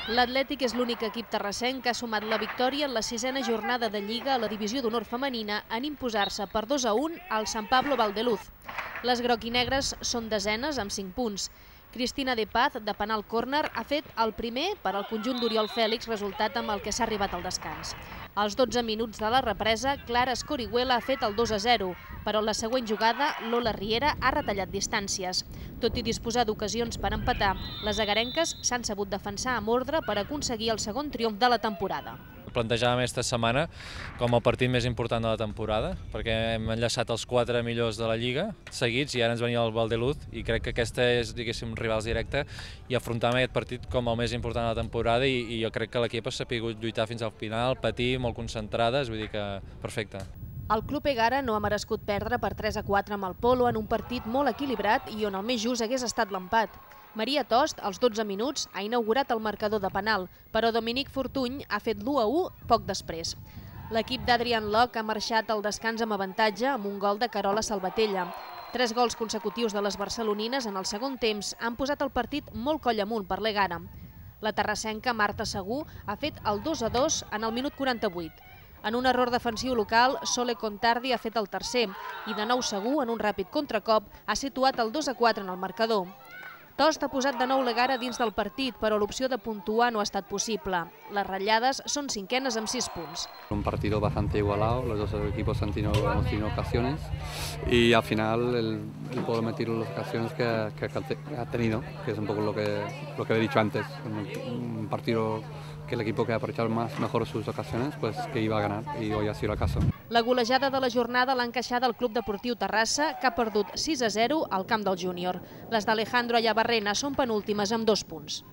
L'Atlètic és l'únic equip terrassenc que ha sumat la victòria en la 6a jornada de Lliga a la divisió d'honor femenina en imposar-se per 2-1 al Sant Pablo Valdeluz. Les groc-i-negres són desenes amb 5 punts. Cristina De Paz, de penal córner, ha fet el primer per al conjunt d'Oriol Fèlix, resultat amb el que s'ha arribat al descans. Als 12 minuts de la represa, Clara Escorihuela ha fet el 2-0, però en la següent jugada, Lola Riera ha retallat distàncies. Tot i disposar d'ocasions per empatar, les agarenques s'han sabut defensar amb ordre per aconseguir el segon triomf de la temporada. Plantejàvem aquesta setmana com el partit més important de la temporada, perquè hem enllaçat els 4 millors de la Lliga seguits i ara ens venia el Valdeluz i crec que aquesta és, diguéssim, rivals directe i afrontàvem aquest partit com el més important de la temporada i jo crec que l'equip ha sabut lluitar fins al final, patir, molt concentrades, vull dir que perfecte. El Club Egara no ha merescut perdre per 3-4 amb el Polo en un partit molt equilibrat i on el més just hagués estat l'empat. Maria Tost, als 12 minuts, ha inaugurat el marcador de penal, però Dominic Fortuny ha fet l'1-1 poc després. L'equip d'Adrian Locke ha marxat al descans amb avantatge amb un gol de Carola Salvatella. 3 gols consecutius de les barcelonines en el segon temps han posat el partit molt coll amunt per l'Egara. La terrassenca Marta Segú ha fet el 2-2 en el minut 48. En un error defensiu local, Sole Contardi ha fet el tercer i de nou Segú, en un ràpid contracop, ha situat el 2-4 en el marcador. Tost ha posat de nou l'Egara dins del partit, però l'opció de puntuar no ha estat possible. Les ratllades són 5enes amb 6 punts. Un partido bastante igualado, los dos equipos hemos tenido ocasiones y al final el Polo ha metido las ocasiones que ha tenido, que es un poco lo que he dicho antes, un partido que el equipo que ha aprovechado mejor sus ocasiones, pues que iba a ganar y hoy ha sido el caso. La golejada de la jornada l'ha encaixada el Club Deportiu Terrassa, que ha perdut 6-0 al camp del júnior. Les d'Alejandro Ayabarrena són penúltimes amb 2 punts.